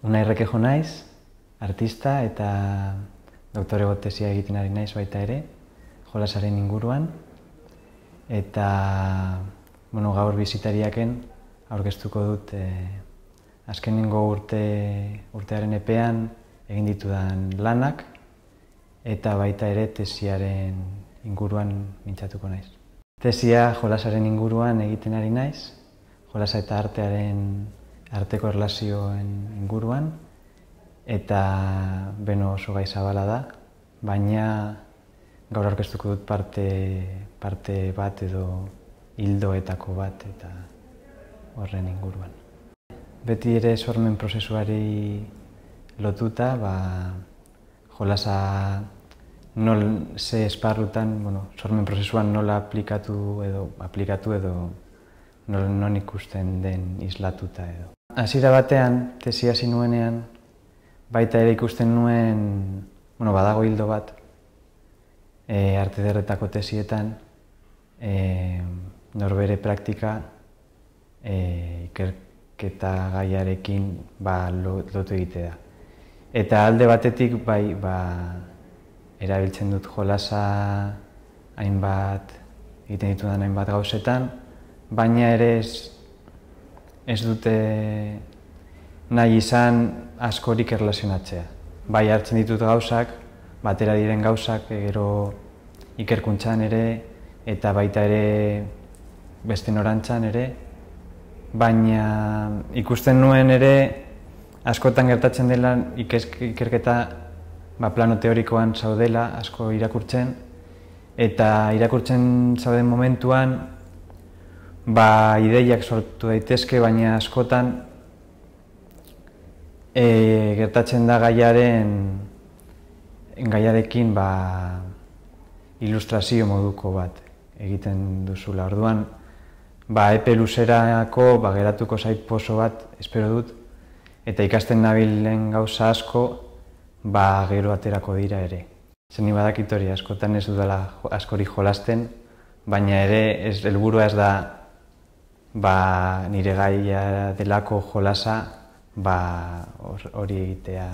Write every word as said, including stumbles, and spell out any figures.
Unai Rekejo naiz, artista eta doktorego tesia egiten ari naiz baita ere, jolasaren inguruan. Eta bueno, gaur bisitariaken aurkeztuko dut eh, azkenengo urte, urtearen epean egin ditudan lanak eta baita ere tesiaren inguruan mintzatuko naiz. Tesia jolasaren inguruan egiten ari naiz, jolasa eta artearen arteko erlazioen inguruan, eta beno oso gai zabala da, baina gaur aurkeztuko dut parte, parte bat edo hildoetako bat eta horren inguruan. Beti ere sormen prozesuari lotuta, ba, jolasa nol ze esparrutan, bueno, sormen prozesuan nola aplikatu edo aplikatu edo non ikusten den islatuta edo. Hasiera batean, tesia hasi nuenean, baita ere ikusten nuen, bueno, badago hildo bat, e, arte ederretako tesietan, e, norbere praktika e, ikerketa gaiarekin ba, lotu egitea da. Eta alde batetik bai, ba, erabiltzen dut jolasa hainbat, egiten ditudan hainbat gauzetan, baina ere ez, ez dute nahi izan askorik erlazionatzea. Bai hartzen ditut gauzak, batera diren gauzak, gero ikerkuntzan ere, eta baita ere beste norantzan ere, baina ikusten nuen ere askotan gertatzen dela ikerketa ba, plano teorikoan zaudela, asko irakurtzen, eta irakurtzen zauden momentuan ba, ideiak sortu daitezke, baina askotan e, gertatzen da gaiaren gaiarekin ba, ilustrazio moduko bat egiten duzula. Orduan, ba, epe luzerako ba, geratuko zait poso bat, espero dut, eta ikasten nabilen gauza asko ba, gero aterako dira ere. Zeni badakit hori, askotan ez dudala askori jolasten, baina ere ez, helburua ez da ba, nire gaia delako jolasa ba, hori egitea